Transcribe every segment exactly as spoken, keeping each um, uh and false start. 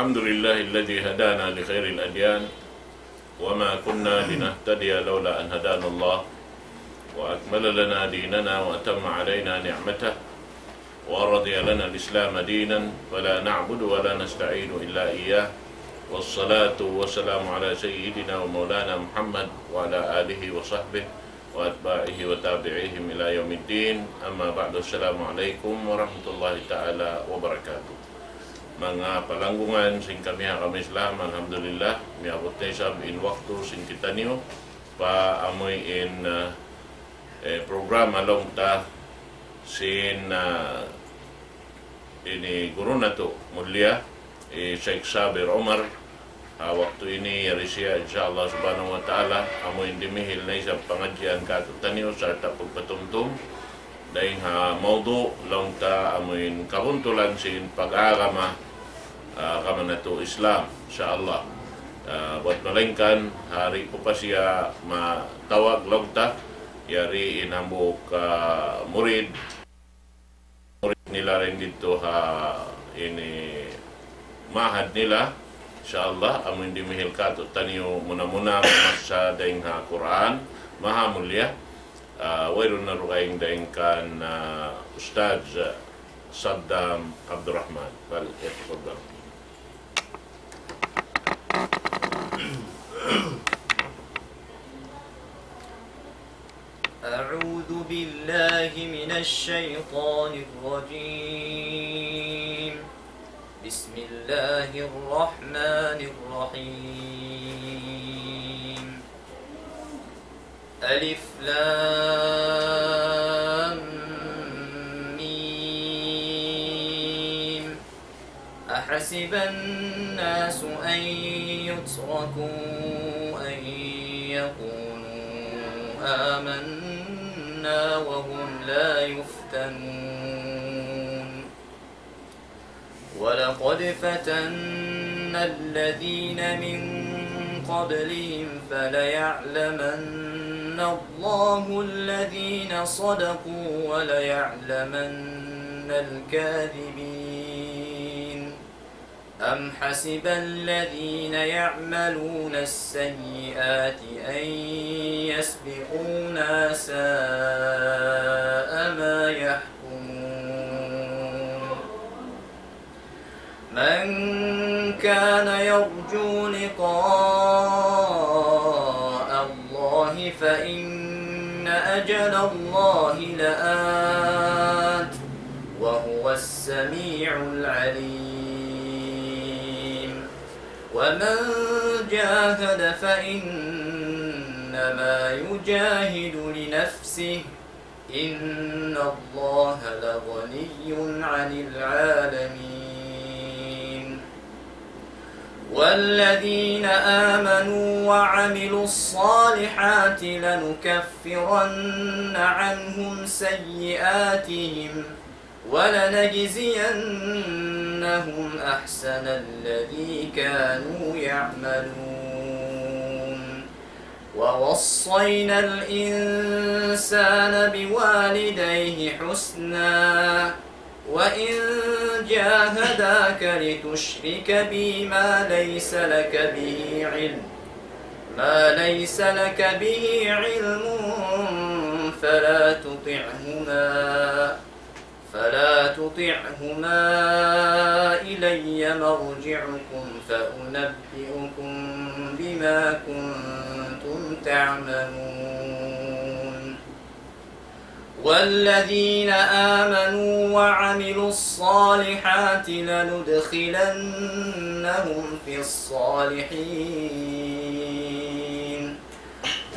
الحمد لله الذي هدانا لخير الأديان وما كنا لنهتدي لولا أن هدانا الله وأكمل لنا ديننا وأتم علينا نعمته ورضي لنا الإسلام دينا فلا نعبد ولا نستعين إلا إياه والصلاة والسلام على سيدنا ومولانا محمد وعلى آله وصحبه وأتباعه وتابعيهم إلى يوم الدين. أما بعد، السلام عليكم ورحمة الله تعالى وبركاته. Manga palanggungan sin kami ha kami Islam, alhamdulillah, miyabut na isab in waktu sin kitaniyu pa amuin, uh, eh, programa laung ta sin, uh, ini guru natu' mulia, eh, Sheikh Sabir Umar. Ha waktu ini yari siya, insya Allah subhanahu wa ta'ala, amuin dimihil na isab pangadjian katu'taniyu sarta' pagpatumtum dayn ha mawdu' laung ta amuin kabuntulan sin pag-agama, ah, agama natu' Islam, insya Allah. Ah, buat malaingkan, ha di' ku pa siya matawag laung ta, yari in hambuuk, ah, murid, murid nila dayn didtu ha ini ma'had nila. Insya Allah, amuin dimihil katu'taniyu muna-muna mamassa dayn ha Qur'an Maha Mulia. Ah, wayruun na dugaing dayn kan, ah, Ustadz Saddam Abdurrahman. Fal yatafaddal. أعوذ بالله من الشيطان الرجيم. بسم الله الرحمن الرحيم. ألف لام ميم. أحسب الناس أن يتركوا أن يقولوا آمنا وهم لا يفتنون. ولقد فتنا الذين من قبلهم فليعلمن الله الذين صدقوا وليعلمن الكاذبين. أم حسب الذين يعملون السيئات أن يسبقونا، ساء ما يحكمون. من كان يرجو لقاء الله فإن أجل الله لآت، وهو السميع العليم. ومن جاهد فإنما يجاهد لنفسه، إن الله لغني عن العالمين. والذين آمنوا وعملوا الصالحات لنكفرن عنهم سيئاتهم ولنجزينهم أحسن الذي كانوا يعملون. ووصينا الإنسان بوالديه حسنا، وإن جاهداك لتشرك بي ما ليس لك به علم، ما ليس لك به علم، فلا تطعهما، فلا تطعهما، إلي مرجعكم فأنبئكم بما كنتم تعملون. والذين آمنوا وعملوا الصالحات لندخلنهم في الصالحين.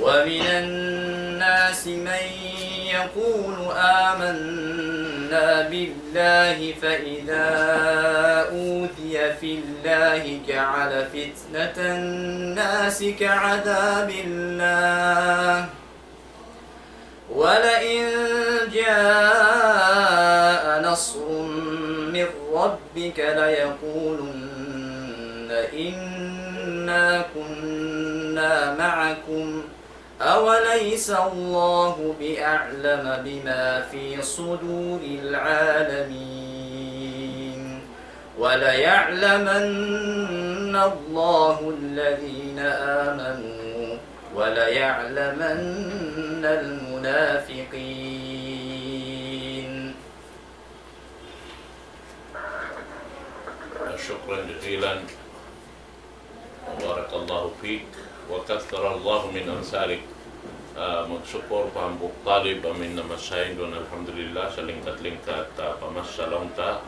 ومن الناس من يقول آمنا بالله فإذا أوذي في الله جعل فتنة الناس كعذاب الله، ولئن جاء نصر من ربك ليقولن إنا كنا معكم أوليس الله بأعلم بما في صدور العالمين. وليعلمن الله الذين آمنوا وليعلمن المنافقين. شكرا جزيلا. بارك الله فيك وكثر الله من أمثالك. Ah, magsukul pa hambuuk talib amu in namasahin duun, alhamdulillah, salingkat-lingkat, ah, pamassa laung ta.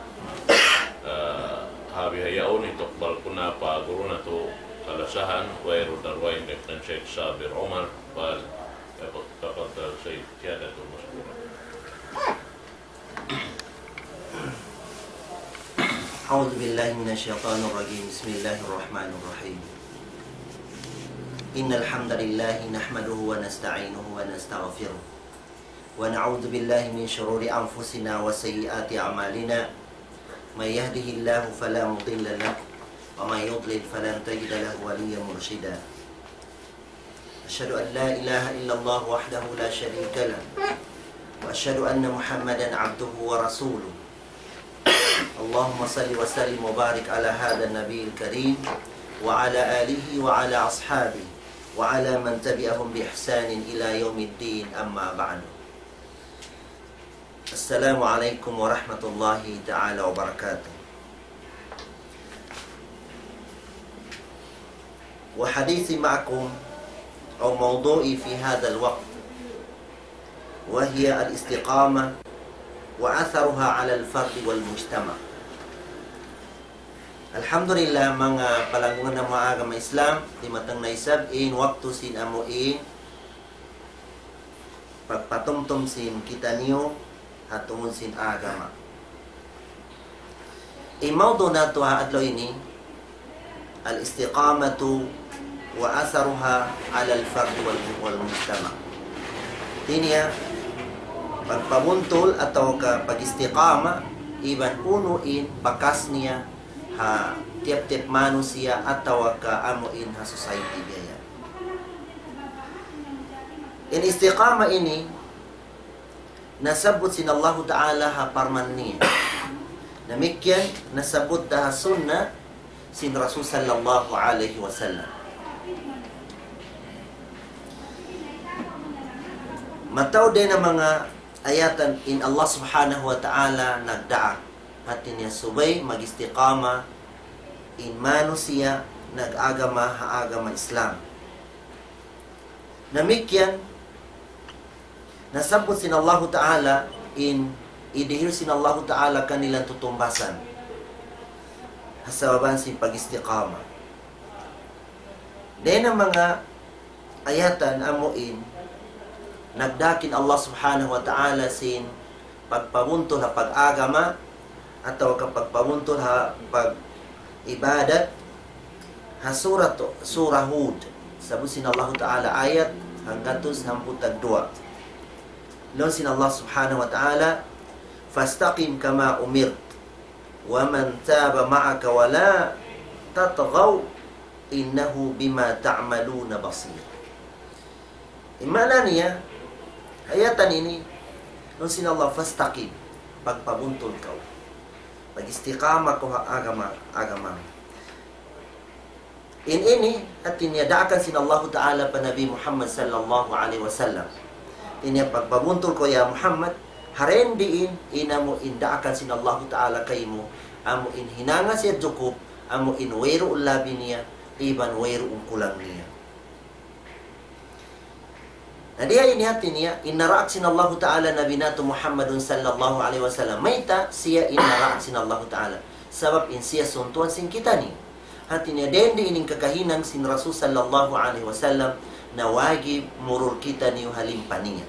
Ah, ha bihaun ini tukbal ku na pa guru natu' kalasahan, wayruun da dugaing dayn kan Sheikh Sabir Umar, فليتفضل سيادته مشكورا. أعوذ بالله من الشيطان الرجيم. بسم الله الرحمن الرحيم. إن الحمد لله نحمده ونستعينه ونستغفره، ونعوذ بالله من شرور أنفسنا وسيئات أعمالنا. من يهده الله فلا مضل له، ومن يضلل فلن تجد له وليا مرشدا. أشهد أن لا إله إلا الله وحده لا شريك له، وأشهد أن محمدا عبده ورسوله. اللهم صل وسلم وبارك على هذا النبي الكريم وعلى آله وعلى أصحابه وعلى من تبعهم بإحسان إلى يوم الدين، أما بعد. السلام عليكم ورحمة الله تعالى وبركاته. وحديثي معكم أو موضوعي في هذا الوقت وهي الاستقامة وأثرها على الفرد والمجتمع. Alhamdulillah, manga palanggungan namu' ha agama Islam, dimatang na isab in waktu sin amu in pagpatumtum sin kitaniyu ha tungud sin agama. In mawdu' natu' ha adlaw ini, الاستقامة وأثرها على الفرد وال-، والمجتمع. Hati niya, pagpabuntul atawa ka pag-istiqama, iban unu in bakas niya ha tiyap-tiyap manusiya' atawa ka amu in ha society biya' yan. In istiqama ini, nasabbut sin Allahu Ta'ala ha parman niya. Damikkiyan, nasabbut da ha sunna sin Rasul sallallahu alayhi wasallam. Mataud dayn ha manga ayatan in Allah Subhanahu wa Ta'ala nagdaak. Hati niya subay mag-istiqama in manusiya' nag-agama ha agama Islam. Damikkiyan, nasabbut sin Allahu Ta'ala in idihil sin Allahu Ta'ala kanilang tutumbasan ha sabab sin pag-istiqama. Dayn ha manga ayatan amu in nagdaak in Allah Subhanahu wa Ta'ala sin pagpabuntul ha pag-agama atawa ka pagpabuntul ha pag-ibadat ha surat, Surah Hud. Sabbut sin Allahu Ta'ala ayat hanggatus hangpu' tagduwa. Laung sin Allah Subhanahu wa Ta'ala, فاستقم كما أمرت ومن تاب معك ولا تطغوا إنه بما تعملون بصير. In maana niya, ayatan ini, laung sin Allah, فاستقم, pagpabuntul kaw. Pag-istiqama kaw ha agama, agama. In ini, hati niya daakan sin Allahu Ta'ala pa Nabi Muhammad sallallahu alayhi wasallam. Hati niya pagpabuntul kaw ya Muhammad, ha dayn diin, in amu in daakan sin Allahu Ta'ala kaymu, amu in hinanga siya jukup, amu in wayruun labi niya, iban wayruun kulang niya. Na diya ini hati niya, in naraak sin Allahu Ta'ala Nabi natu' Muhammadun sallallahu alayhi wasallam. Mayta' siya in naraak sin Allahu Ta'ala? Sabab in siya suntuan sin kitaniyu. Hati niya, dayn di in kakahinang sin Rasul sallallahu alayhi wasallam, na wajib murul kitaniyu ha limpa niya.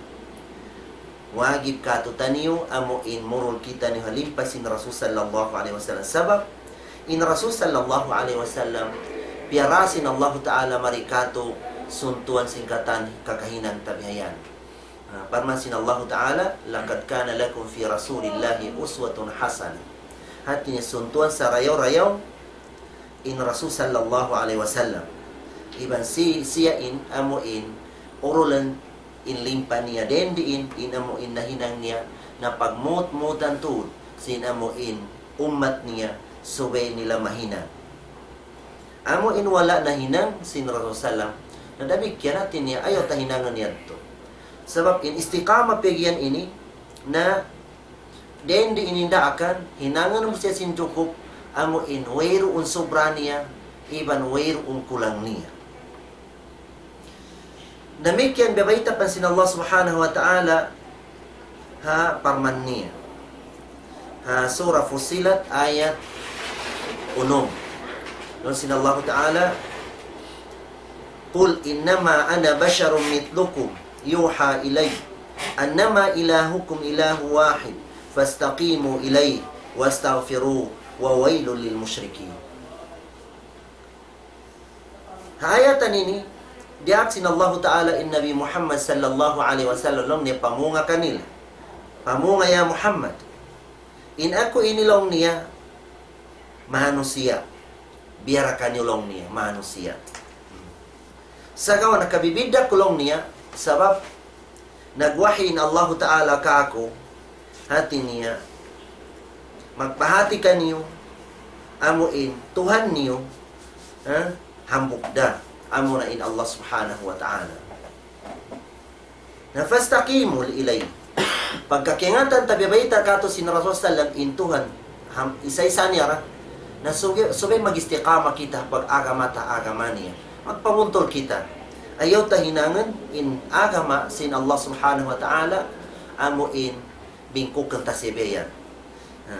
Wajib kātu'niyu amu in murul kitaniyu ha limpa sin Rasul sallallahu alayhi wasallam. Sabab, in Rasul sallallahu alayhi wasallam, piyara sin Allahu Ta'ala mari kātu' suntuan sin katan kakahinang ta bihayan. Ah, parman sin Allahu Ta'ala, لقد كان لكم في رسول الله أسوة حسنة. Hati niya suntuan sarayaw-rayaw in Rasul sallallahu alayhi wasallam. Iban si-, siya in amu in urulan in limpa niya dayn diin, in amu in nahinang niya, na pagmut-mutan tuud sin amu in ummat niya, subay nila mahinang. Amu in wala' nahinang sin Rasul sallam. Na damikkiyan hati niya, ayaw ta hinangun yadtu. Sabab in istiqamah piyagiyan ini, na dayn di ini daakan, hinangun mu siya sin jukup, amu in wayruun subra niya, iban wayruun kulang niya. Damikkiyan biyabayta' pa sin Allah Subhanahu wa Ta'ala ha parman niya. Ha Surah Fussilat ayat unum. Laung sin Allah Ta'ala, قل إنما أنا بشر مثلكم يوحى إلي أنما إلهكم إله واحد فاستقيموا إليه واستغفروه وويل للمشركين. Ha ayatan ini, diyaak sin Allahu Ta'ala in Nabi Muhammad sallallahu alayhi wasallam laung niya pamunga kanila. Pamunga ya Muhammad. In aku ini laung niya manusiya'. Biya' da kaniyu laung niya manusiya'. Sagawa' nakabibidda' ku laung niya, sabab nagwahi in Allahu Ta'ala kāku', hati niya, magpahāti kaniyu, amu in Tuhan niyu, ha? Hambuuk da, amu na in Allah Subhanahu wa Ta'ala. Na فاستقيموا إليه. Pagka kaingatan ta biyabayta' kātu' sin Rasul sallam in Tuhan, ham-, isa-isa niya ra. Na sugi-, subay mag-istiqamah kita pag-agama ta agama niya. Magpabuntul kita. Ayaw ta hinangun in agama sin Allah Subhanahu wa Ta'ala, amu in bingkukun ta siya biya' yan. Ha.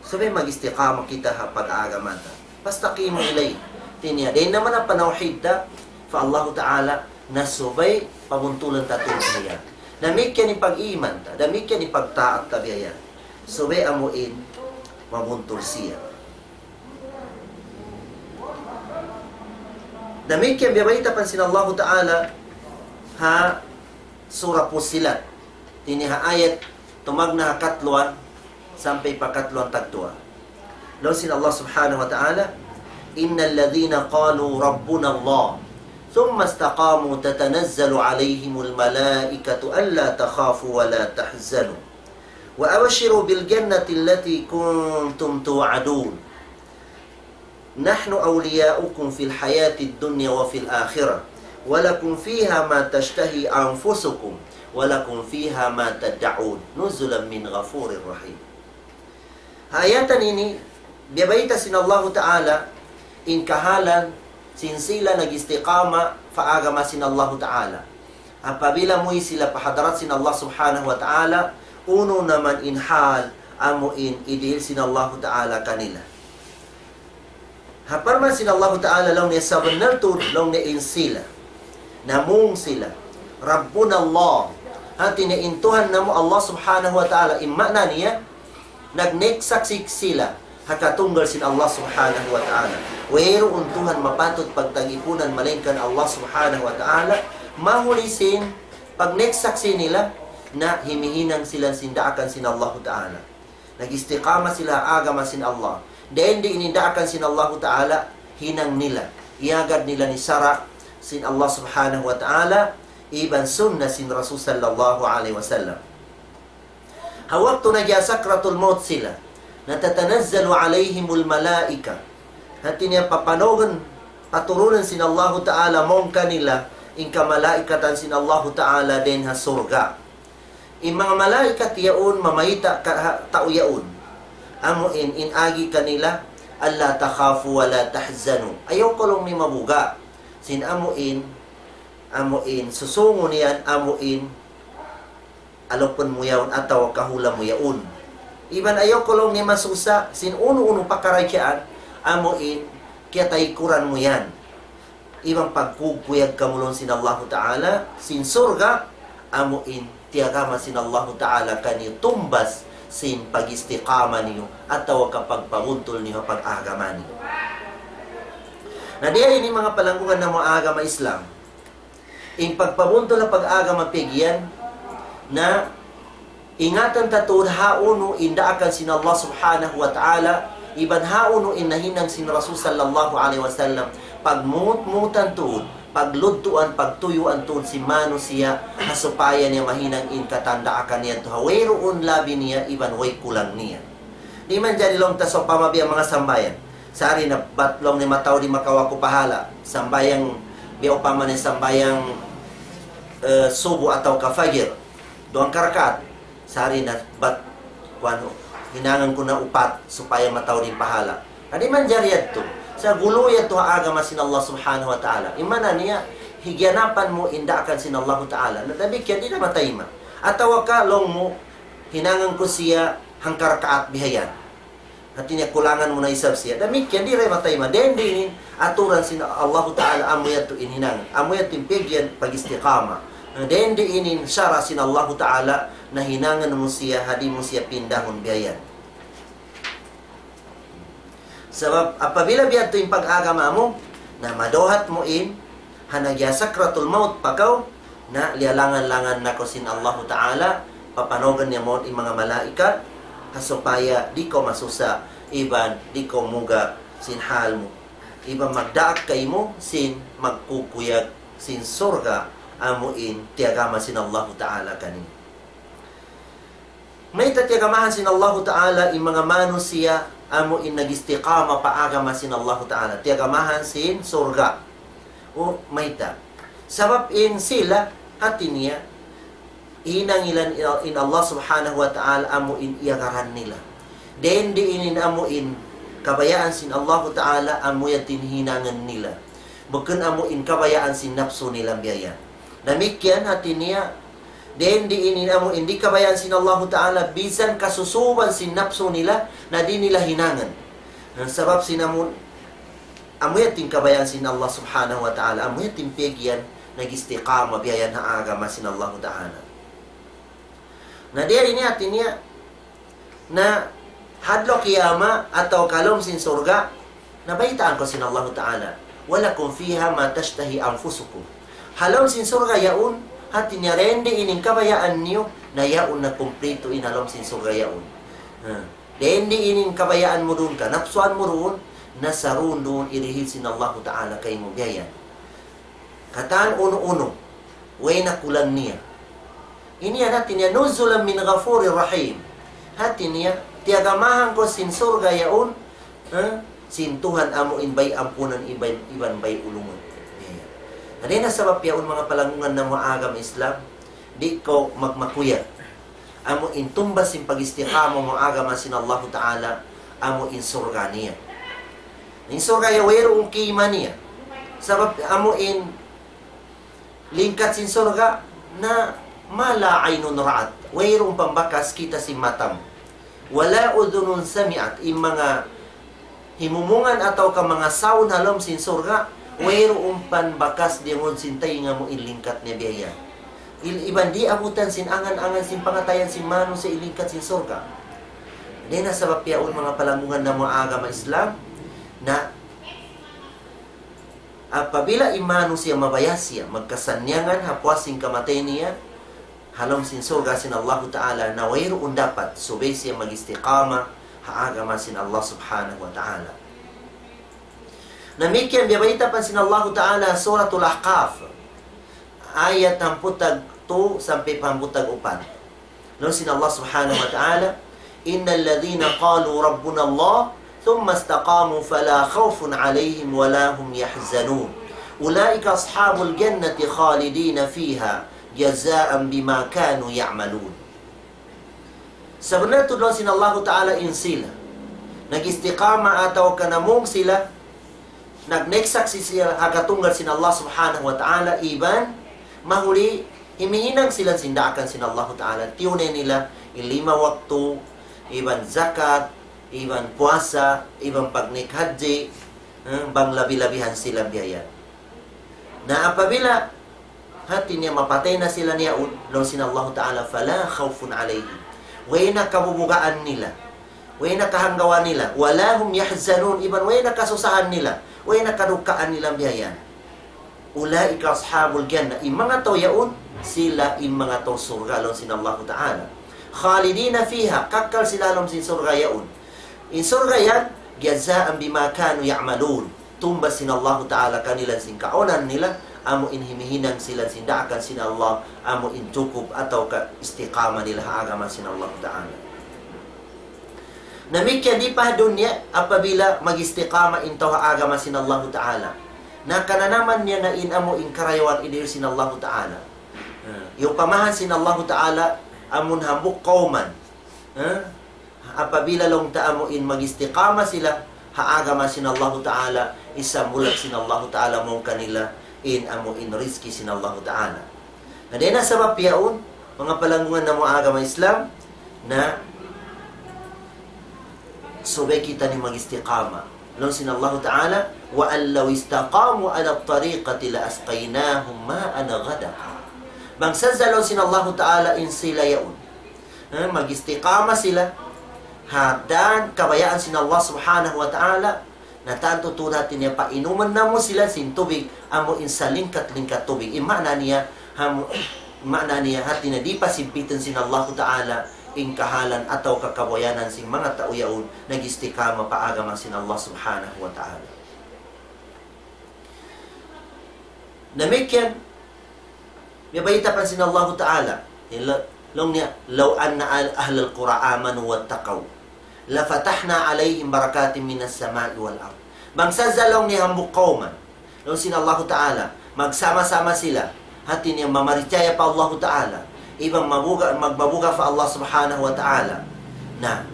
Subay mag-istiqamah kita ha pag-agama ta. فاستقيموا إليه. Hati niya, dayn naman ha panawhid ta pa Allahu Ta'ala, na subay pabuntulan ta tuud siya. Damikkiyan in pag-iman ta, damikkiyan in pagtaat ta biya' yan. Subay amu in mabuntul siya. Damikkiyan biyabayta' pa sin Allahu Ta'ala ha Surah Fussilat. Ini ha ayat tumagna' ha katluan sampay pa katluan tagduwa. Laung sin Allah Subhanahu wa Ta'ala, إن الذين قالوا ربنا الله ثم استقاموا تتنزل عليهم الملائكة ألا تخافوا ولا تحزنوا وأبشروا بالجنة التي كنتم توعدون نحن أولياؤكم في الحياة الدنيا وفي الآخرة ولكم فيها ما تشتهي أنفسكم ولكم فيها ما تدعون نزلا من غفور رحيم. Ha ayatan ini, biyabayta' sin Allahu Ta'ala in kahalan sin sila nag-istiqamah pa agama sin Allahu Ta'ala. Apabila muwi' sila pa hadarat sin Allah Subhanahu wa Ta'ala, unu naman in hal amu in idihil sin Allahu Ta'ala kanila. Ha parman sin Allahu Ta'ala laung niya sabunnal tuud laung niya in sila. Namung sila. ربنا الله. Hati niya in Tuhan namu' Allah Subhanahu wa Ta'ala. In maana niya, nagneksaksi sila ha katunggal sin Allah Subhanahu wa Ta'ala. Wayruun Tuhan mapatut pagtagipunan malaingkan Allah Subhanahu wa Ta'ala. Mahuli sin pagneksaksi nila na himihinang sila sin daakan sin Allahu Ta'ala. Nag-istiqamah sila ha agama sin Allah. Dayn di ini daakan sin Allahu Ta'ala, hinang nila. Iyagad nila in sara' sin Allah Subhanahu wa Ta'ala, iban sunnah sin Rasul sallallahu alayhi wasallam. Ha waktu nagiya sakratul maut sila, na تتنزل عليهم الملائكة. Hati niya papanugun, paturunun sin Allahu Ta'ala mawn kanila, in kamalaikatan sin Allahu Ta'ala dayn ha surga'. In manga malaikat yaun mamayta' ka ha tau yaun. Amu in, in agi kanila, ألا تخافوا ولا تحزنوا. Ayaw kaw laung niya mabuga'. Sin amu in, amu in, susungun yan, amu in, alupun mu yaun atawa kahula' mu yaun. Iban ayaw kaw laung niya masusa, sin unu-unu pakaradjaan, amu in, kiyataykuran mu yan. Iban pagkukuyag kamu laung sin Allahu Ta'ala, sin surga', amu in, tiyagama sin Allahu Ta'ala kaniyu tumbas, sin pag-istiqama niyu, atawa ka pagpabuntul niyu, pag-agama niyu. Na diya ini manga palanggungan namu' agama Islam. In pagpabuntul ha pag-agama piyagiyan na ingatan ta tuud hawnu in daakan sin Allah Subhanahu wa Ta'ala, iban hawnu in nahinang sin Rasul sallallahu alayhi wasallam, pagmutmutan tuud, pagludtuan, pagtuyuan tuud sin manusiya', ha supaya niya mahinang in katan daakan niya tuud, wayruun labi niya, iban way kulang niya. Di' manjari laung ta sawpama biya' manga sambahayang. Sari na bat laung niya mataud in makawa' ku pahala. Sambahayang biya' upama niya sambahayang, eh, subu atawa ka fajr. Duwang karakaat. Sari na bat kuwan, hinangan ku na upat supaya mataud in pahala. Na di' manjari yadtu. Sa' gulu yadtu ha agama sin Allah Subhanahu wa Ta'ala. In maana niya, higiyanapan mu in daakan sin Allahu Ta'ala. Na damikkiyan di' na mataima. Atawa ka laung mu, hinangan ku siya hangkarakaat bihayan. Hati niya kulangan mu na isab siya. Damikkiyan di' da mataima. Dayn di ini in aturan sin Allahu Ta'ala amu yadtu in hinang. Amu yadtu in pag'iyan pag-istiqama. Dayn di ini in sara' sin Allahu Ta'ala na hinangan mu siya, ha di' mu siya pindahun bihayan. Sabab apabila biya' yadtu in pag-agama mu, na maduhat mu in, ha nagiya sakratul maut pa kaw, na liyalangan-langan na kaw sin Allahu Ta'ala, papanawgan niya mawn in manga malaikat, ha supaya di' kaw masusa, iban di' kaw muga sin hal mu. Iban magdaak kaymu sin magkukuyag sin surga', amu in tiyagama sin Allahu Ta'ala kaniyu. Mayta' tiyagamahan sin Allahu Ta'ala in manga manusiya' amu in nag-istiqama pa agama sin Allahu Ta'ala. Tiyagamahan sin surga'. O, mayta'. Sabab in sila, hati niya, hinang nila in Allah Subhanahu wa Ta'ala amu in iyagaran nila. Dayn di ini in amu in kabayaan sin Allahu Ta'ala amu yadtu in hinangan nila. Bukun amu in kabayaan sin napsu nila biya' yan. Damikkiyan hati niya, dayn di ini in amu in di' kabayaan sin Allahu Ta'ala, bisan kasusuban sin napsu nila, na di' nila hinangan. Na sabab sin amu, amu yadtu in kabayaan sin Allah Subhanahu wa Ta'ala, amu yadtu in pag'iyan nag-istiqama biya' yan ha agama sin Allahu Ta'ala. Na dayn di ini hati niya, na ha adlaw kiyamat atawa ka ha lawm sin surga', na baytaan kaw sin Allahu Ta'ala, ولكم فيها ما تشتهي أنفسكم. Ha lawm sin surga' yaun, hati niya dayn di ini in kabayaan niyu, na yaun na kumplitu in ha lawm sin surga' yaun. Ha. Dayn di ini in kabayaan mu duun, kanapsuan mu duun, na sarundun irihil sin Allahu Ta'ala kaymu biya' yan. Katan unu-unu, way na kulang niya. Ini yan hati niya, نزلا من غفور رحيم. Hati niya, tiyagamahan kaw sin surga' yaun, ha? Sin Tuhan amu in bay ampunan iban, iban bay ulungun. Yan. Hati niya sabab yaun manga palanggungan namu' agama Islam, di' kaw magmakuyag. Amu in tumbas sin pag-istiqama mu agama sin Allahu Ta'ala, amu in surga' niya. In surga' ya wayruun kima niya. Sabab amu in lingkat sin surga' na ما لا عين رأت. Wayruun pambakas kita' sin mata mu. ولا أذن سمعت. In manga himumungan atawa ka manga sound ha lawm sin surga', wayruun pambakas diyungug sin taynga mu in lingkat niya biya' yan. Il-, iban di' abutan sin angan-angan sin pangatayan sin manusiya' in lingkat sin surga'. Dayn ha sabab yaun manga palanggungan namu' agama Islam, na apabila in manusiya' mabaya' siya, magkasannyangan ha puas sin kamatay niya, ha lawm sin surga' sin Allahu Ta'ala, na wayruun dapat, subay siya mag-istiqama ha agama sin Allah Subhanahu wa Ta'ala. Damikkiyan biya' bayta' pa sin Allahu Ta'ala, Suratul Ahqaf, ayat hangpu' tag tu sampay pa hangpu' tag upat. Laung sin Allah Subhanahu wa Ta'ala, إن الذين قالوا ربنا الله ثم استقاموا فلا خوف عليهم ولا هم يحزنون أولئك أصحاب الجنة خالدين فيها جزاء بما كانوا يعملون. Sabunnal tuud laung sin Allahu Ta'ala in sila nag-istiqama atawa ka namung sila, nag-, nagsaksi' sila ha katunggal sin Allah Subhanahu wa Ta'ala, iban mahuli himihinang sila sin daakan sin Allahu Ta'ala. Tiyunay nila in lima waktu, iban zakat, iban puasa, iban pagnaik hajji, eh, bang labi-labihan sila biya' yan. Na apabila hati niya mapatay na sila niyaun, laung sin Allahu Ta'ala, فلا خوف عليهم. Way na kabubugaan nila. Way na kahanggawan nila. ولا هم يحزنون. Iban way na kasusahan nila. Way na kadukaan nila biya' yan. أولئك أصحاب الجنة. In manga tau yaun, sila in manga tau surga', laung sin Allahu Ta'ala. خالدين فيها. Kakkal sila ha lawm sin surga' yaun. In surga' yan, جزاء بما كانوا يعملون. Tumbas sin Allahu Ta'ala kanila sin kaunan nila, amu in himihinang sila sin daakan sin Allah, amu in jukup atawa ka istiqama nila ha agama sin Allahu Ta'ala. Damikkiyan di pa ha dunya, apabila mag-istiqama in tau ha agama sin Allahu Ta'ala, na kananaman niya na in amu in karayawan idihil sin Allahu Ta'ala. Ha, iyupamahan sin Allahu Ta'ala amun hambuuk kawman. Ha? Apabila laung ta amu in mag-istiqama sila ha agama sin Allahu Ta'ala, isambung sin Allahu Ta'ala mawn kanila in amu in rizki sin Allahu Ta'ala. Na dayn ha sabab yaun, manga palanggungan namu' agama Islam, na subay kitaniyu mag-istiqama. Laung sin Allahu Ta'ala, وأن لو استقاموا على الطريقة لأسقيناهم ماء غدقا. Bang sadja laung sin Allahu Ta'ala in sila yaun, ha, mag-istiqama sila ha dan kabayaan sin Allah Subhanahu wa Ta'ala, na tantu tuud hati niya painuman namu' sila sin tubig, amu in salingkat-lingkat tubig. In maana niya, ham-, maana niya hati niya di' pasigpitan sin Allahu Ta'ala in kahalan atawa kabuyanan sin manga tau yaun nag-istiqama pa agama sin Allah Subhanahu wa Ta'ala. Damikkiyan, miyabayta' pa sin Allahu Ta'ala. Ila-, laung niya, لو أن أهل القرى آمنوا واتقوا لفتحنا عليهم بركات من السماء والأرض. Bang sadja laung niya hambuuk kawman, laung sin Allahu Ta'ala, magsama-sama sila, hati niya mamarichaya pa Allahu Ta'ala, iban mabuga-, magmabuga pa Allah Subhanahu wa Ta'ala. Na,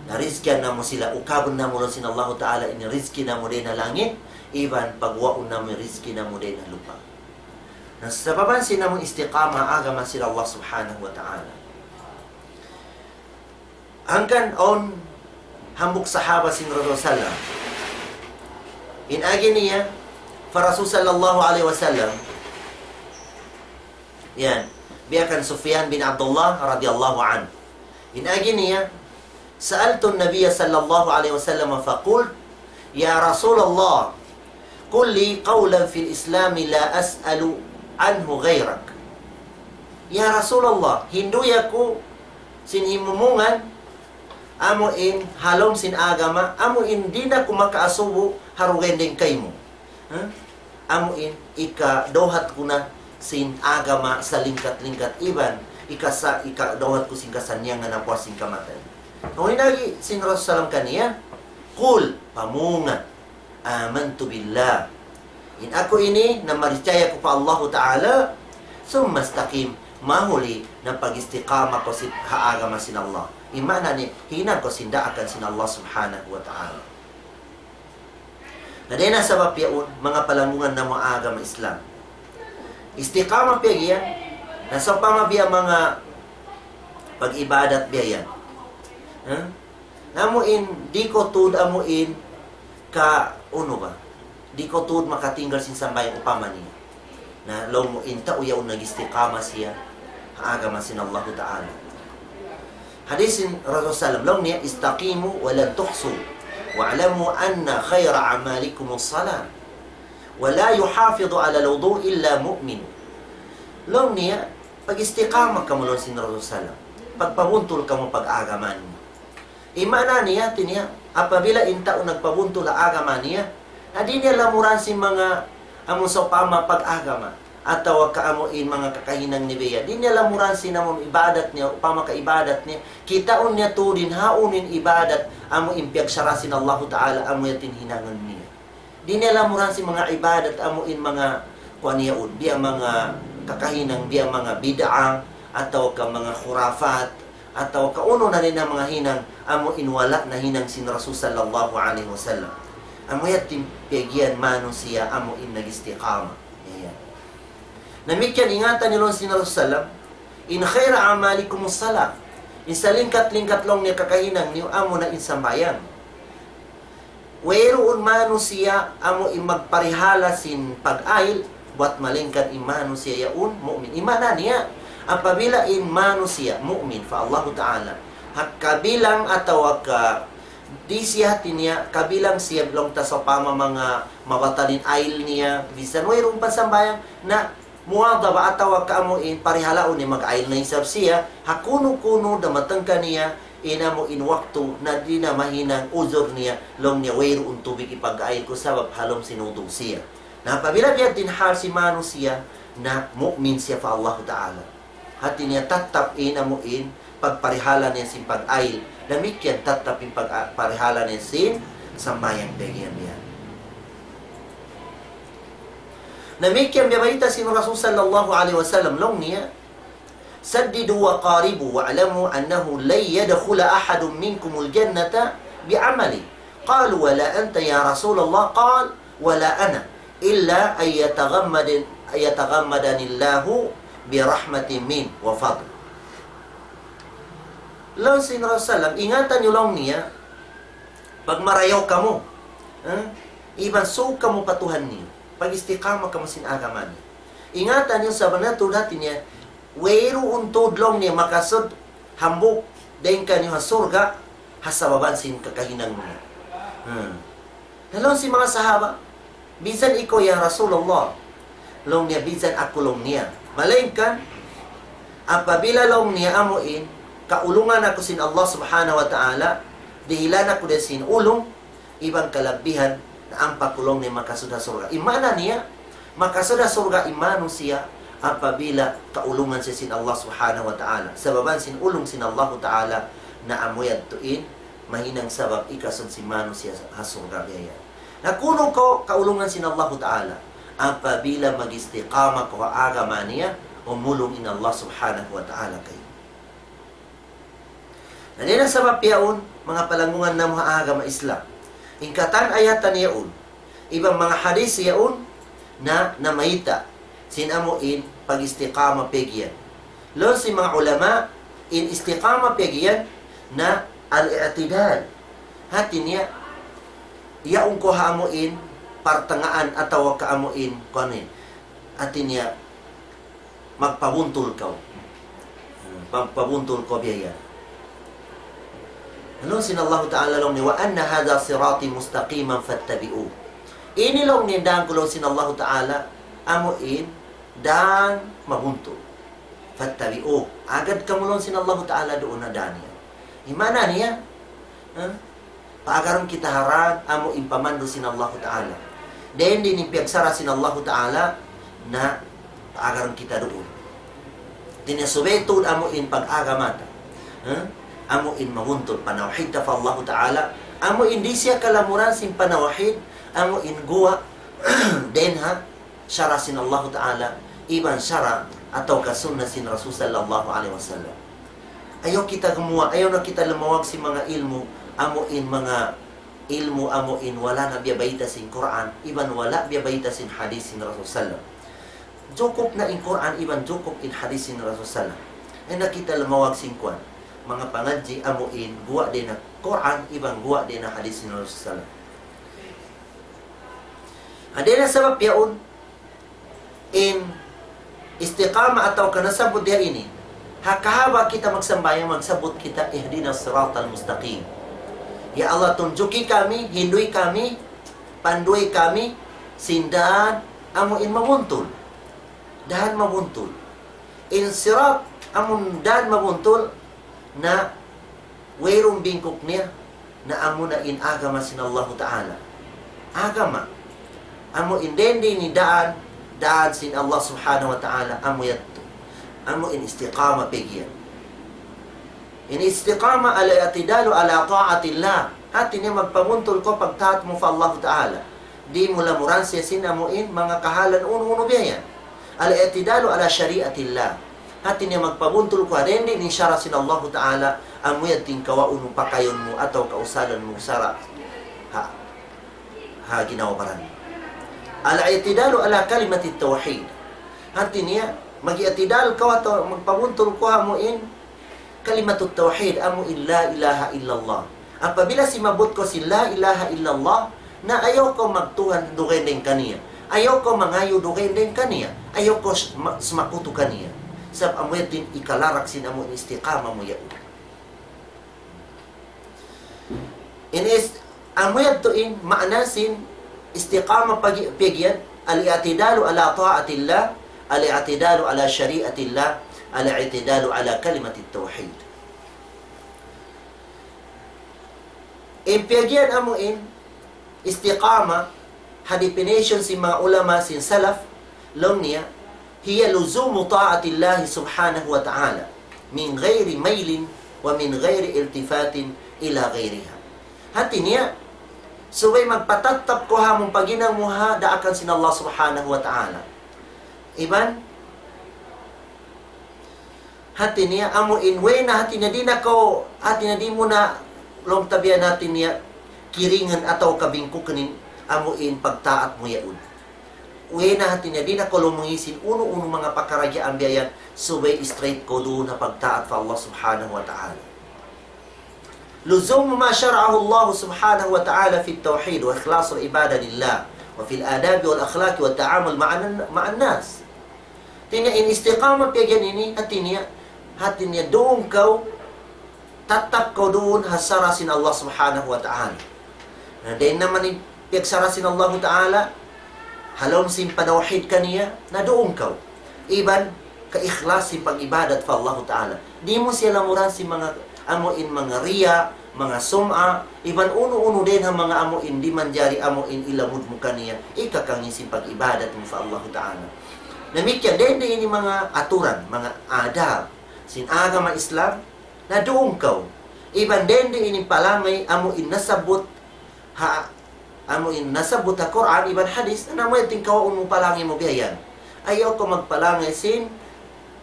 na rizkihan namu' sila, ukabun namu' laung sin Allahu Ta'ala in rizki namu' dayn ha langit, iban pagwaun namu' rizki namu' dayn ha lupa'. Na sababan sin amu istiqama agama sin Allah Subhanahu wa Ta'ala. Hangkan awn hambuuk sahaba sin Rasul sallam. In agi niya pa Rasul sallallahu alayhi wasallam. Yan. Biya' kan Sufyan bin Abdullah radiyallahu anhu. In agi niya, سألت النبي صلى الله عليه وسلم فقلت: يا رسول الله، قل لي قولا في الإسلام لا أسأل عنه غيرك. Ya Rasulullah, hindu' aku sin himumungan, amu in ha lawm sin agama, amu in di' na aku makaasubu ha dugaing dayn kaymu. Ha? Amu in ikadawhat ku na sin agama salingkat-lingkat iban ikasa-, ikadawhat ku sin kasannyangan ha puas sin kamatay. Amu in agi sin Rasul sallam kaniya, قل, pamunga, آمنت بالله. In aku ini, namarichaya aku pa Allahu Ta'ala, ثم استقم, mahuli na pag-istiqama kaw sin, ha agama sin Allah. In maana niya, hinang kaw sin daakan sin Allah Subhanahu wa Ta'ala. Na dayn ha sabab yaun, manga palanggungan namu' agama Islam. Istiqama biya' yan, na sawpama biya' manga pag-ibadat biya' yan. Ha? Amu in, di' kaw tuud amu in ka, unu ba? Di' kaw tuud makatinggal sin sambahayang upama niya. Na laung mu in tau yaun nag-istiqama siya ha agama sin Allahu Ta'ala. Hadith sin Rasul sallam, laung niya, استقيموا ولن تحصوا واعلموا أن خير أعمالكم الصلاة ولا يحافظ على الوضوء إلا مؤمن. Laung niya, pag-istiqama kamu laung sin Rasul sallam. Pagpabuntul kamu pag-agama niyu. In maana niya, hati niya, apabila in tau nagpabuntul ha agama niya, na di' niya lamuran sin manga amu sawpama pag-agama, atawa ka amu in manga kakahinang niya biya'. Di' niya lamuran sin amu ibadat niya, upama ka ibadat niya, kitaun niya tuud in hawnu in ibadat, amu in piyagsara' sin Allahu Ta'ala, amu yadtu in hinangun niya. Di' niya lamuran sin manga ibadat amu in manga kuwan yaun, biya' manga kakahinang, biya' manga bid'a, atawa ka manga khurafat, atawa ka unu na dayn ha manga hinang, amu in wala' nahinang sin Rasul sallallahu alayhi wasallam. Amu yadtu in piyag-iyan manusiya' amu in nag-istiqama. Yan. Damikkiyan ingatan niyu laung sin Rasul sallam, إن خير أعمالكم الصلاة. In salingkat-lingkat laung niya kakahinang niyu amu na in sambahayang. Wayruun manusiya' amu in magparihala sin pag-ayil, buwat malaingkan in manusiya' yaun mu'min. In maana niya, apabila in manusiya' mu'min pa Allahu Ta'ala, ha kabilang atawa ka di' siya hati niya, kabilang siya laung ta sawpama manga mabatal in ayil niya, bisan wayruun pa sambahayang, na muwadhaba atawa ka amu in parihalaun niya mag-ayil na isab siya, ha kunu-kunu damatang kaniya, in amu in waktu na di' na mahinang uzur niya, laung niya wayruun tubig ipag-ayil ku sabab ha lawm sin wudu' siya. Na apabila biya' diin hal sin manusiya', na mu'min siya pa Allahu Ta'ala. Hati niya tattap in amu in pagparihala niya sin pag-ayil. Damikkiyan tattap in pagparihala niya sin sambahayang paggiyan niya. Damikkiyan biya' bayta' sin Rasul sallallahu alayhi wasallam, laung niya, سددوا وقاربوا واعلموا أنه لن يدخل أحد منكم الجنة بعمله. قالوا: ولا أنت يا رسول الله؟ قال: ولا أنا، إلا أن يتغمد-، يتغمدني الله برحمة منه وفضل. Laung sin Rasul sallam, ingatan niyu laung niya, pagmarayaw kamu, ha? Iban sūng kamu pa Tuhan niyu, pag-istiqama kamu sin agama niya. Ingatan niyu, sabunnal tuud hati niya, wayruun tuud laung niya makasud hambuuk dayn kaniyu ha surga' ha sabab sin kakahinang niya. Hmm. Na laung sin manga sahaba, "Minsan ikaw, ya Rasulullah?" Laung niya, "Minsan aku," laung niya. Malayngkan, apabila laung niya amu in, kaulungan aku sin Allah Subhanahu wa Ta'ala, dihilan aku dayn sin ulung, iban kalabihan, na ampa ku laung niya makasud ha surga'. In maana niya, makasud ha surga' in manusiya' apabila kaulungan siya sin Allah Subhanahu wa Ta'ala. Sabab sin ulung sin Allahu Ta'ala, na amu yadtu in mahinang sabab ikasud sin manusiya' ha surga' biya' yan. Na kunu' kaw kaulungan sin Allahu Ta'ala, apabila mag-istiqama kaw ha agama niya, umulung in Allah Subhanahu wa Ta'ala kaymu. Na dayn ha sabab yaun, manga palanggungan namu' ha agama Islam, in katan ayat yaun, iban manga hadith yaun, na namayta' sin amu in pag-istiqama paggiyan. Laung sin manga ulama, in istiqama paggiyan na al-i'tidal. Hati niya, yaun kaw ha amu in partangaan atawa ka amu in kuwan in. Hati niya, magpabuntul kaw. Magpabuntul kaw biya' yan. Laung sin Allahu Ta'ala laung niya, وأن هذا صراطي مستقيما فاتبعوه. Ini laung niya in dān ku laung sin Allahu Ta'ala, amu in dān mabuntul. فاتبعوه. Agad kamu laung sin Allahu Ta'ala duun ha dān niya. In maana niya, ha? Paagarun kita ha dān amu in pamandu' sin Allahu Ta'ala. Dayn di in piyagsara' sin Allahu Ta'ala na paagarun kita duun. Hati niya subay tuud amu in pag-agama ta. Ha? Amu in mabuntul panawhid ta pa Allahu Ta'ala. Amu in di' siya kalamuran sin panawhid. Amu in guwa' dayn ha sara' sin Allahu Ta'ala, iban sara' atawa ka sunna sin Rasul sallallahu alayhi wasallam. Ayaw kita gumuwa', ayaw na kita lumawag sin manga ilmu', amu in manga ilmu', amu in wala' na biyabayta' sin Qur'an, iban wala' biyabayta' sin hadith sin Rasul sallam. Jukup na in Qur'an, iban jukup in hadith sin Rasul sallam. Ayaw na kita lumawag sin kuwan. Manga pangadji' amu in guwa' dayn ha Qur'an, iban guwa' dayn ha hadith sin Rasul sallam. Ha dayn ha sabab yaun, in istiqama atawa ka nasabbut diya ini, ha kahaba' kita magsambahayang, magsabbut kita, اهدنا الصراط المستقيم. Ya Allah, tunjuki kami, hinduyi kami, panduyi kami, sin dān amu in mabuntul. Dān mabuntul. In sirat, amun dān mabuntul, na wayruun bingkuk niya, na amuna in agama sin Allahu Ta'ala. Agama. Amu in dayn di in dān, dān sin Allah Subhanahu wa Ta'ala, amu yadtu. Amu in istiqama paggiyan. In istiqama الاعتدال على طاعة الله. Hati niya magpabuntul kaw pagtaat mu pa Allahu Ta'ala. Di' mu lamuran siya sin amu in manga kahalan unu-unu biya' yan. الاعتدال على شريعة الله. Hati niya magpabuntul kaw dayn di in sara' sin Allahu Ta'ala, amu yan tingkawaun mu, pakayun mu, atawa kausalan mu sara'. Ha. Ha, ginawa baran. الاعتدال على كلمة التوحيد. Hati niya, mag-i'tidal kaw atawa magpabuntul kaw amu in kalimatut tawhid, amu in la ilaha illallah. Apabila simabbut kaw sin la ilaha illallah, na ayaw kaw magtuhan dugaing dayn kaniya. Ayaw kaw mangayu' dugaing dayn kaniya. Ayaw kaw s-, ma-, sumakutu kaniya. Sabab amu yan in ikalarak sin amu in istiqama mu yaun. In is-, amu yadtu in maana sin istiqama pagi-, paggiyan, الاعتدال على طاعة الله، الاعتدال على شريعة الله، الاعتدال على كلمة التوحيد. In paggiyan amu in istiqama, ha definition sin manga ulama sin salaf, laung niya, هي لزوم طاعة الله سبحانه وتعالى من غير ميل ومن غير التفات إلى غيرها. Hati niya, subay magpatattap kaw ha amun paghinang mu ha daakan sin Allah Subhanahu wa Ta'ala. Iban, hati niya, amu in way na hati niya, di' na kaw, hati niya, di' mu na laung ta biya' na hati niya, kiringan atawa kabingkukan in, amu in pagtaat mu yaun. Way na hati niya, di' na kaw lumungi sin unu-unu manga pakaradjaan biya' yan, subay straight kaw duun ha pagtaat pa Allah Subhanahu wa Ta'ala. لزوم ما شرعه الله سبحانه وتعالى في التوحيد وإخلاص العبادة لله وفي الآداب والأخلاق والتعامل مع الن-، مع الناس. Hati niya in istiqamah piyagyan ini, hati niya, hati niya duun kaw, tattap kaw duun ha sara' sin Allah Subhanahu wa Ta'ala. Na dayn naman in piyagsara' sin Allahu Ta'ala, ha lawm sin panawhid kaniya, na duun kaw. Iban kaikhlas sin pag-ibadat pa Allahu Ta'ala. Di' mu siya lamuran sin manga amu in manga riya, manga sum'a, iban unu-unu dayn ha manga amu in di' manjari amu in ilamud mu kaniya, ikakangin sin pag-ibadat mu pa Allahu Ta'ala. Damikkiyan, dayn di ini manga aturan, manga adab sin agama Islam, na duun kaw. Iban dayn di ini palangay amu in nasabbut ha, amu in nasabbut ha Qur'an iban hadith, na amu yadtu in kawaun mu palangay mu biya' yan. Ayaw kaw magpalangay sin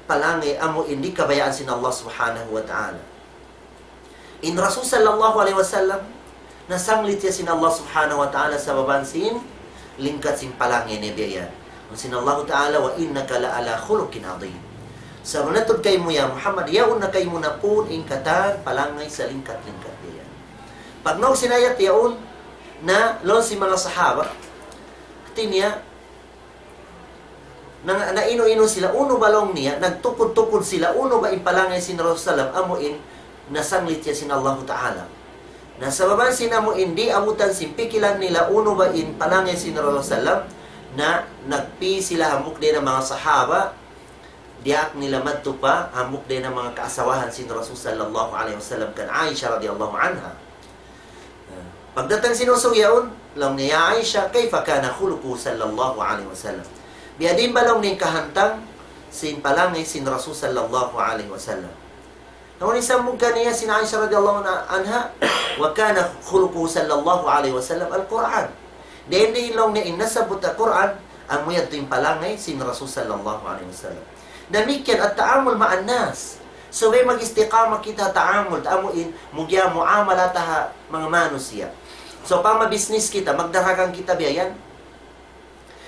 palangay amu in di' kabayaan sin Allah Subhanahu wa Ta'ala. In Rasul sallallahu alayhi wasallam, nasanglit siya sin Allah Subhanahu wa Ta'ala sabab sin lingkat sin palangay niya biya' yan. Laung sin Allahu Ta'ala, وإنك لعلى خلق عظيم. Sabunnal tuud kaymu ya Muhammad, yaun na kaymu na pun in katan palangay salingkat-lingkat biya' yan. Pagnaug sin ayat yaun, na laung sin manga sahaba, hati niya, na, nainu-inu sila, unu ba laung niya, nagtukud-tukud sila, unu ba in palangay sin Rasul sallam, amu in nasanglit siya sin Allahu Ta'ala. Na sabab sin amu in di' abutan sin pikilan nila, unu ba in palangay sin Rasul sallam, na nagpi sila hambuuk dayn ha manga sahaba, diyaak nila madtu pa hambuuk dayn ha manga kaasawahan sin Rasul sallallahu alayhi wasallam kan Aisha radiyallahu anha. Pagdatung sin usug yaun, laung niya, يا عائشة، كيف كان خلقه صلى الله عليه وسلم؟ Biyadiin ba laung niya in kahantang sin palangay sin Rasul sallallahu alayhi wasallam? Laung niya, sambung kaniya sin Aisha radiyallahu anha, وكان خلقه صلى الله عليه وسلم القرآن. Dayn di laung niya in nasabbut ha Qur'an, amu yadtu in palangay sin Rasul sallallahu alayhi wasallam. Damikkiyan التعامل مع الناس. Subay mag-istiqamah kita ha ta'amul, amu in, mugya muamala ta ha manga manusiya'. Sawpama business kita, magdaragang kita biya' yan.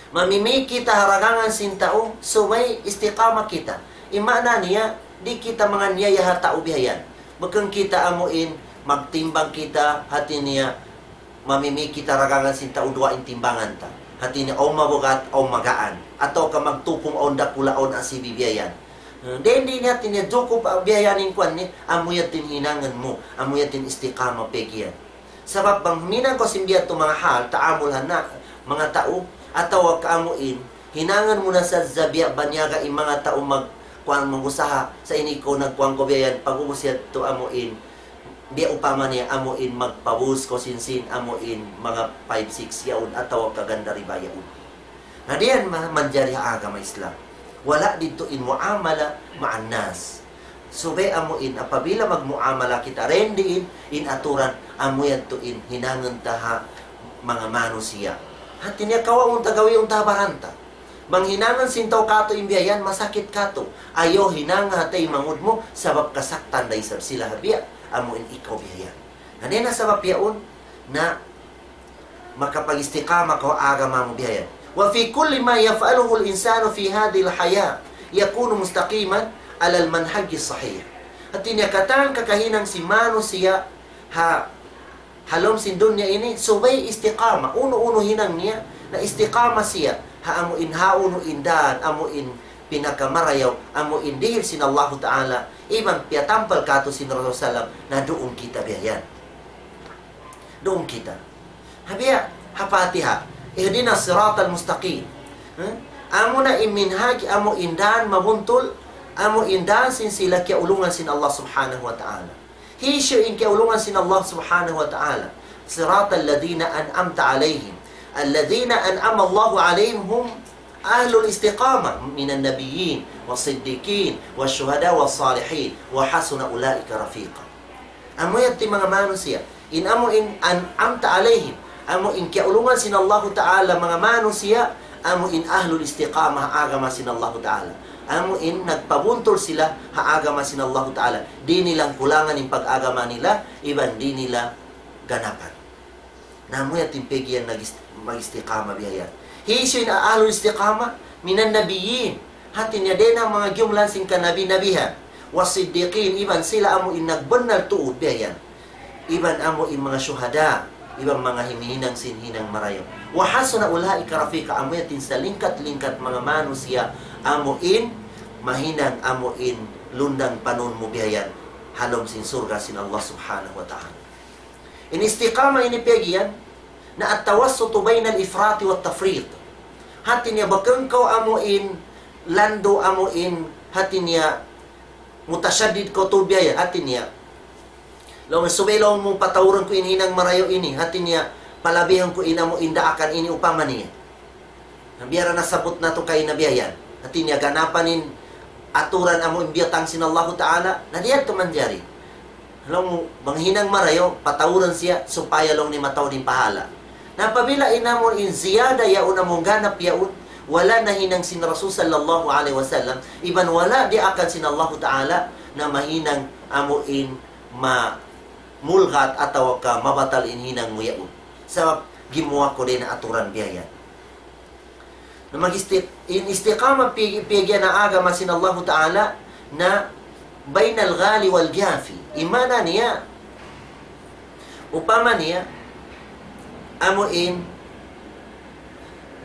Mamimi kita ha dagangan sin tau, subay istiqamah kita. In maana niya, di' kita manganiaya ha tau biya' yan. Bukun kita amu in, magtimbang kita, hati niya, mamimi kita dagangan sin tau, duwa in timbangan ta. Hati niya, awn mabugat, awn magaan. Atawa ka magtupung, awn dakula', awn asibi' biya' yan. Hmm, dayn di niya, hati niya, jukup, ah, biya' yan in kuwan niya, amu yadtu in hinangun mu, amu yadtu in istiqamah peggy yan. Sabab bang huminang kaw sin biya' yadtu manga hal, ta'amul ha manga tau, atawa ka amu in, hinangun mu na sadja biya' banyaga in manga tau mag-, kuwan, mag-usaha, sa' ini kaw nagkuwan kaw biya' yan, pag-ubus yadtu amu in, biya' upama niya amu in magpaubus kaw sin sin, amu in manga five, six yaun, atawa ka ganda riba yaun. Na di' yan ma-, manjari ha agama Islam. Wala' didtu in muamala ma'an nas. Subay amu in, apabila magmuamala kita, dayn di in, in aturan, amu yadtu in, hinangun ta ha manga manusiya'. Hati niya kawaun ta, gawiun ta ha baran ta. Bang hinangun sin tau katu' in biya' yan, masakit katu'. Ayaw hinanga ha taymanghud mu, sabab kasaktan da isab sila ha biya', amu in ikaw biya' yan. Na dayn ha sabab yaun, na makapag-istiqamah kaw ha agama mu biya' yan. وفي كل ما يفعله الإنسان في هذه الحياة يكون مستقيما على المنهج الصحيح. Hati niya katan kakahinang sin manusiya' ha, ha lawm sin dunya ini, subay istiqamah. Unu-unu hinang niya, na istiqamah siya. Ha amu in, ha unu in dan, amu in pinakamarayaw, amu in dihil sin Allahu Ta'ala, iban piyatampal katu' sin Rasul sallam, na duun kita biya' yan. Duun kita. Ha biya', ha Fatiha. اهدنا الصراط المستقيم. Hmm? Amu na in minhaj, amu in dan mabuntul, amu in dan sin sila kiyaulungan sin Allah Subhanahu wa Ta'ala. Hisiyu in kiyaulungan sin Allah Subhanahu wa Ta'ala? صراط الذين أنعمت عليهم. الذين أنعم الله عليهم هم أهل الاستقامة من النبيين والصديقين والشهداء والصالحين وحسن أولئك رفيقا. Amu yadtu in manga manusiya'. In amu in أنعمت عليهم. Amu in kiyaulungan sin Allahu Ta'ala manga manusiya', amu in ahlul istiqamah ha agama sin Allahu Ta'ala. Amu in nagpabuntul sila ha agama sin Allahu Ta'ala. Di' nila kulangan in pag-agama nila, iban di' nila ganapan. Na amu yadtu in piyag'iyan nag-ist-, mag-istiqama biya' yan. Hisiyu in ahlul istiqama? من النبيين. Hati niya dayn ha manga giyumlan sin kanabi-nabihan. والصديقين, iban sila amu in nagbannal tuud biya' yan. Iban amu in manga shuhada, iban manga himihinang sin hinang marayaw. وحسن أولئك رفيقا, amu yadtu in salingkat-lingkat manga manusiya', amu in mahinang, amu in lundang panun mu biya' yan. Ha lawm sin surga' sin Allah Subhanahu wa Ta'ala. In istiqama ini piyag'iyan, na التوسط بين الإفراط والتفريط. Hati niya bukun kaw amu in landu' amu in hati niya mutashaddid kaw tuud biya' yan, hati niya. Laung subay laung mu patauran ku in hinang marayaw ini, hati niya palabihan ku in amu in daakan ini upama niya. Na biya' ra nasabbut natu' kaina biya' yan. Hati niya ganapan in aturan amu in biyutang sin Allahu Ta'ala, na di' yadtu manjari. Laung mu, bang hinang marayaw, patauran siya, supaya laung niya mataud in pahala. Na apabila in amu in ziyada yaun amu in ganap yaun, wala' nahinang sin Rasul sallallahu alayhi wasallam, iban wala' diyaakan sin Allahu Ta'ala, na mahinang amu in mamulgat atawa ka mabatal in hinang mu yaun. Sabab gimuwa' ku dayn ha aturan biya' yan. Na mag-isti-, in istiqama pi-, piyag'iyan ha agama sin Allahu Ta'ala na بين الغالي والجافي. In maana niya, upama niya, amu in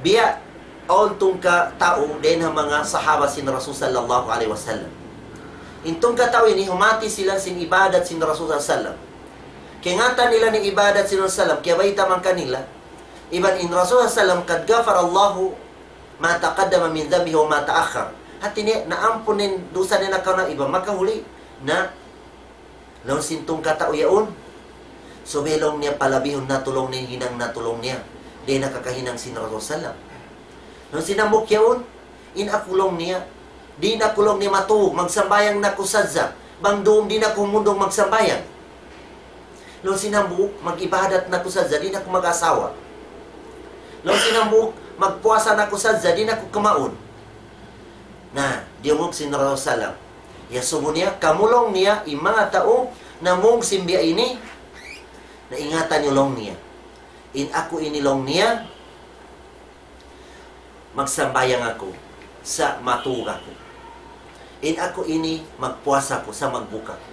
biya' awn tungka' tau dayn ha manga sahaba sin Rasul sallallahu alayhi wasallam. In tungka' tau ini humati sila sin ibadat sin Rasul sallallahu alayhi wasallam. Kaingatan nila in ibadat sin Rasul sallam, kiyabayta' man kanila. Iban in Rasul sallam, قد غفر الله ما تقدم من ذنبه وما تأخر. Hati niya, naampun in dusa niya nakauna iban makahuli. Na, laung sin tungka' tau yaun, subay laung niya palabihun natu' laung niya in hinang natu' laung niya. Di' na kakahinang sin Rasul sallam. Laung sin hambuuk yaun, in aku laung niya, di' na aku laung niya matug, magsambahayang na aku sadja. Bang dum di' na aku humundung magsambahayang. Laung sin hambuuk, mag-ibadat na aku sadja, di' na aku mag-asawa. Laung sin hambuuk, magpuasa na aku sadja, di' na aku kumaun. Na, diyungug sin Rasul sallam. Iyasubu niya, kamu laung niya, in manga tau, namung sin biya' ini, na ingatan niyu laung niya. In aku ini laung niya, magsambahayang aku, sa' matug aku. In aku ini, magpuasa aku, sa' magbuka aku.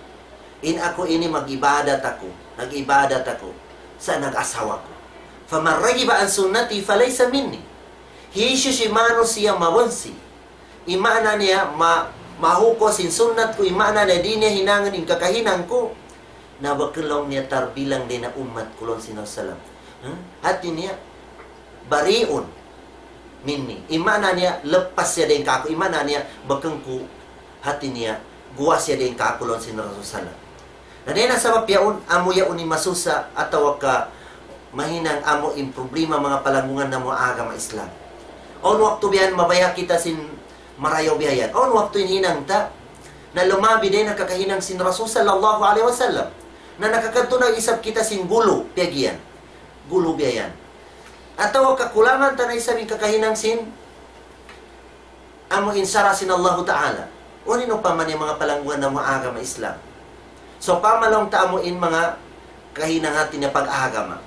In aku ini, mag-ibadat aku, nag-ibadat aku, sa' nag-asawa aku. فمن رغب عن سنتي فليس مني. Hisiyu-siyu in manusiya' mawansi. In maana niya, ma-, mahuku' sin sunnat ku, in maana niya, di' niya hinangun in kakahinang ku. Na bukun laung niya tarbilang dayn ha ummat ku laung sin Rasul sallam. Hmm? Hati niya, بريء مني. In maana niya, lappas siya dayn kāku'. In maana niya, bukun ku, hati niya, guwa' siya dayn kāku' laung sin Rasul sallam. Na dayn ha sabab yaun, amu yaun in masusa atawa ka mahinang amu in problema manga palanggungan namu' agama Islam. Awn waktu biya' yan mabaya' kita sin marayaw biya' yan. Awn waktu in hinang ta, na lumabi dayn ha kakahinang sin Rasul sallallahu alayhi wasallam. Na nakakadtu na isab kita sin gulu, piyag'iyan. Gulu biya' yan. Atawa kakulangan ta na isab in kakahinang sin amu in sara' sin Allahu Ta'ala. Unu in upama niya manga palanggungan namu' agama Islam. So, pamalaung ta amu in manga kahinang hati niya pag-agama.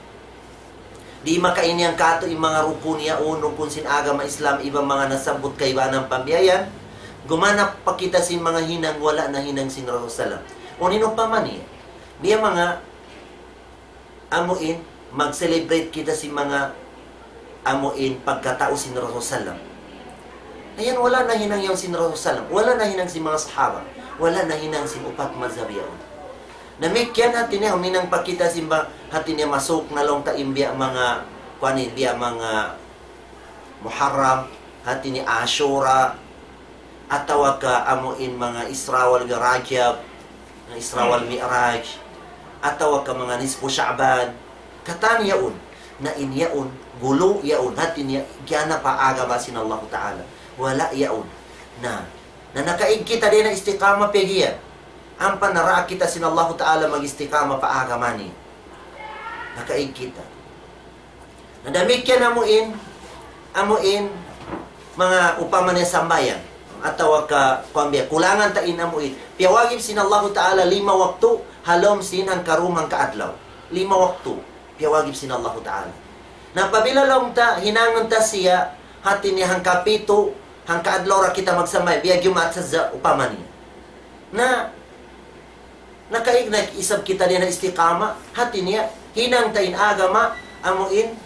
Di' makainiyang katu' in manga rukun yaun, rukun sin agama Islam, iban manga nasabbut kaibanan pa biya' yan. Gumanap pa kita sin manga hinang wala' nahinang sin Rasul sallam. Unu in upama niya. Biya' manga amu in mag-celebrate kita sin manga amu in pagkatau sin Rasul sallam. Ayan, wala' nahinang yaun sin Rasul sallam. Wala' nahinang sin manga sahaba. Wala' nahinang sin upat mazhab yaun. Damikkiyan hati niya, huminang pa kita sin ba, hati niya masuk na laung ta in biya' manga, kuwan in biya' manga Muharram, hati niya Ashura, atawa ka amu in manga Isra wal Rajab, manga Isra wal Mi'raj, atawa ka manga nisfu Sha'ban, katan yaun. Na in yaun, gulu yaun, hati niya, kiyanapa agama sin Allahu Ta'ala. Wala' yaun. Na, na nakaig kita dayn ha istiqamah piyag'iyan. Ampa naraak kita sin Allahu Ta'ala mag-istiqamah pa agama niya. Nakaig kita. Na damikkiyan amu in, amu in, manga upama niya sambahayang. Atawa ka, kuwan biya', kulangan ta in amu in. Piyawajib sin Allahu Ta'ala lima waktu, ha lawm sin hangkarum hangkaadlaw. Lima waktu. Piyawajib sin Allahu Ta'ala. Na apabila laung ta, hinangun ta siya, hati niya hangkapitu, hangkaadlaw ra kita magsambahayang, biya' Jumaat sadja upama niya. Na, nakaig na isab kita dayn ha istiqamah, hati niya, hinang ta in agama, amu in,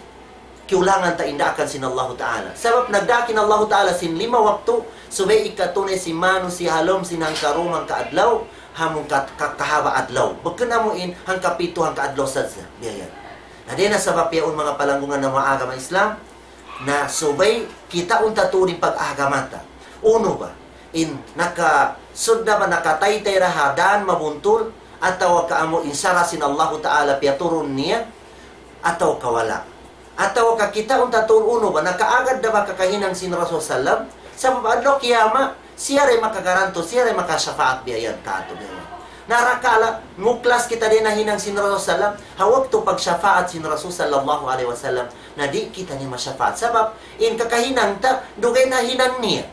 kiyulangan ta in daakan sin Allahu Ta'ala. Sabab nagdaak in Allahu Ta'ala sin lima waktu, subay ikatunay sin manusiya' ha lawm sin hangkarum hangkaadlaw, ha mung ka-, ka-, kahaba' adlaw. Bukun amu in hangkapitu hangkaadlaw sadja. Biya' yan. Na dayn ha sabab yaun manga palanggungan namu' ha agama Islam, na subay kitaun ta tuud in pag-agama ta. Unu ba? In nakasud na ba, nakataytay ra ha dan mabuntul, atawa ka amu in sara' sin Allahu Ta'ala piyaturun niya, atawa ka wala'. Atawa ka kitaun ta tuud unu ba, nakaagad na ba kakahinang sin Rasul sallam, sabab adlaw kiyamat, siya ra in makagarantu, siya ra in makashafaat biya' yan katu' biya' yan. Na rakala', muklas kita dayn ha hinang sin Rasul sallam, ha waktu pagshafaat sin Rasul sallallahu alayhi wasallam, na di' kita niya mashafaat. Sabab, in kakahinang ta, dugaing na hinang niya.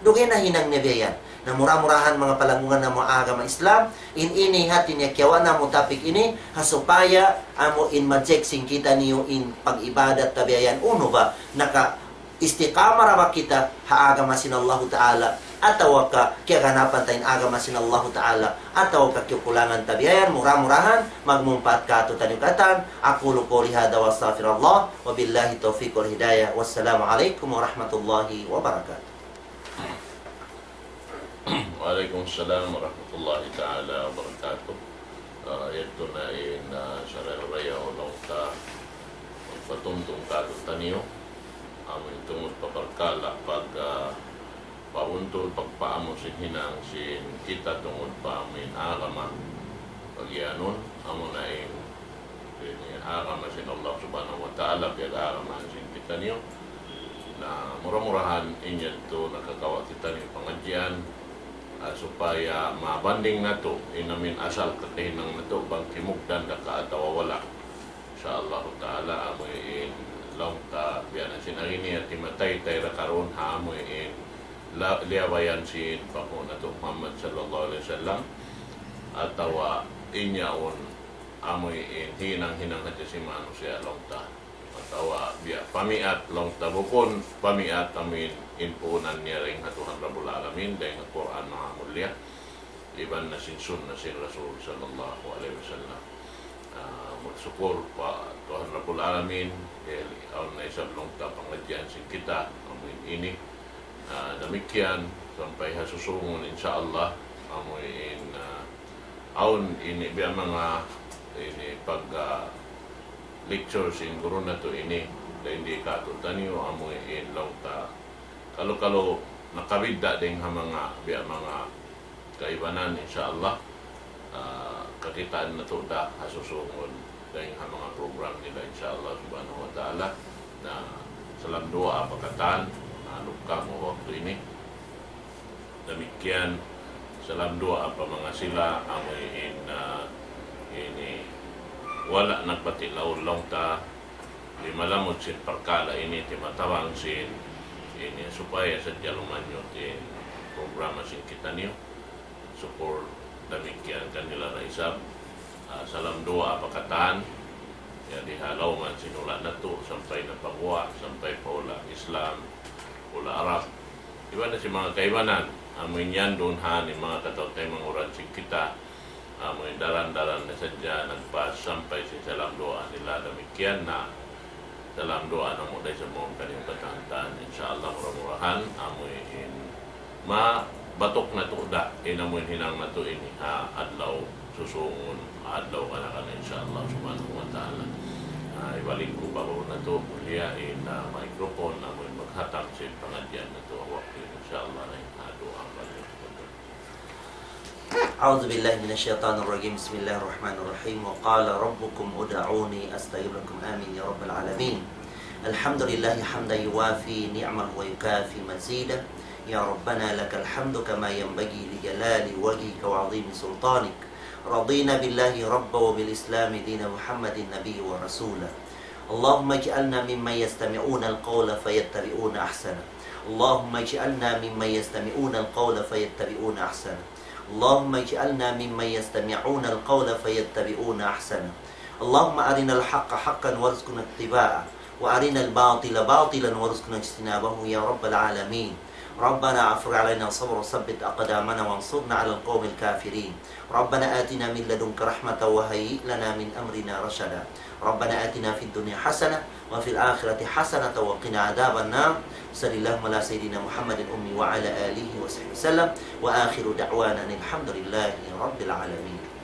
Dugaing na hinang niya biya' yan. Na mura-murahan manga palanggungan namu' ha agama Islam, in ini hati niya kiyawa' namu' topic ini, ha supaya amu in ma-check sin kitaniyu in pag-ibadat ta biya' yan. Unu ba, naka-istiqamah ra ba kita ha agama sin Allahu Ta'ala, atawa ka kiyaganapan ta in agama sin Allahu Ta'ala, atawa ka kiyukulangan ta biya' yan. Mura-murahan magmumpaat katu'taniyu katan. أقول قولي هذا وأستغفر الله، وبالله التوفيق والهداية، والسلام عليكم ورحمة الله وبركاته. Wa alaykum salam wa rahmatullahi ta'ala wa barakatuh. Ah, yadtu na in, ah, sarayaw-rayaw laung ta magpatumtum katu'taniyu, amu in tungud pa parkala' pag, ah, pabuntul, pagpaamu sin hinang sin kita tungud pa amu in agama. Pag-iyanun, amu na in ini agama sin Allah Subhanahu wa Ta'ala, piyag-agama sin kitaniyu. Na mura-murahan in yadtu nakakawa' kitaniyu pangadjian, ah, supaya mabanding natu' in amu in asal kakahinang natu' bang kimugdan da ka atawa wala'. Insha Allahu Ta'ala, amu in laung ta biya' na sin agi niya timataytay ra karun ha amu in la-, liyabayan sin panghu' natu' Muhammad sallallahu alayhi wasallam, atawa in yaun amu in hinang-hinang hadja sin manusiya' laung ta. Atawa biya' pamiat laung ta, bukun pamiat amu in, in puunan niya dayn ha Tuhan Rabbul Alamin, dayn ha Qur'an Maha Mulia, iban na sin sunna sin Rasul sallallahu alayhi wasallam. Ah, magsukul pa Tuhan Rabbul Alamin, dihil awn na isab laung ta pangadjian sin kita, amu in ini. Ah, damikkiyan, sampay ha susungun, insha Allah, amu in, ah, awn ini biya' manga ini pag, ah, lecture sin guru natu' ini, dayn di katu'taniyu, amu in laung ta kalu-kalu nakabidda' dayn ha manga, biya' manga kaibanan, insha Allah. Ah, kakitaan natu' da ha susungun dayn ha manga program nila, insha Allah subhanahu wa ta'ala. Na salam duwaa pa katan, na lukam ha waktu ini. Damikkiyan, salam duwaa pa manga sila, amu in, ah, ini, wala' nagbati' laung ta, di' malamud sin parkala' ini, timatabang sin ini, supaya sadja lumanyut in programa sin kitaniyu. Sukul damikkiyan kanila na isab. Ah, salam duwaa pa katan. Jadi, ha lawm sin hula' natu', sampay na pa guwa', sampay pa hula' Islam, hula' Arab. Iban na sin manga kaibanan, amu in yan duun ha ini manga kataw-taymanghuran sin kita, amu in daran-daran na sadja nagpas sampay sin salam duwaa nila damikkiyan na. Salam duwaa namu' da isab mawn kaniyu katan-katan. Insha Allah, mura-murahan, amu in mabatuk natu' da, in amu in hinang natu' ini ha adlaw susungun, adlaw kana-kana, insha Allah subhanahu wa ta'ala. Ah, ibalik ku pa guru natu', mulia in, ah, microphone, amu in maghatam sin pangadjian natu' ha waktu ini, insha Allah, na in, ah, duwaa pa niyu. أعوذ بالله من الشيطان الرجيم. بسم الله الرحمن الرحيم. وقال ربكم ادعوني أستجب لكم. آمين يا رب العالمين. الحمد لله حمدا يوافي نعمه ويكافي مزيده. يا ربنا لك الحمد كما ينبغي لجلال وجهك وعظيم سلطانك. رضينا بالله ربا وبالإسلام دينا ومحمد نبيا ورسولا. اللهم اجعلنا ممن يستمعون القول فيتبعون أحسنه. اللهم اجعلنا ممن يستمعون القول فيتبعون أحسنه. اللهم اجعلنا ممن يستمعون القول فيتبعون أحسنه. اللهم أرنا الحق حقا وارزقنا اتباعه، وأرنا الباطل باطلا وارزقنا اجتنابه يا رب العالمين. ربنا أفرغ علينا صبرا وثبت أقدامنا وانصرنا على القوم الكافرين. ربنا آتنا من لدنك رحمة وهيئ لنا من أمرنا رشدا. ربنا آتنا في الدنيا حسنة وفي الآخرة حسنة وقنا عذاب النار. صل اللهم على سيدنا محمد الأمي وعلى آله وصحبه وسلم. وآخر دعوانا أن الحمد لله رب العالمين.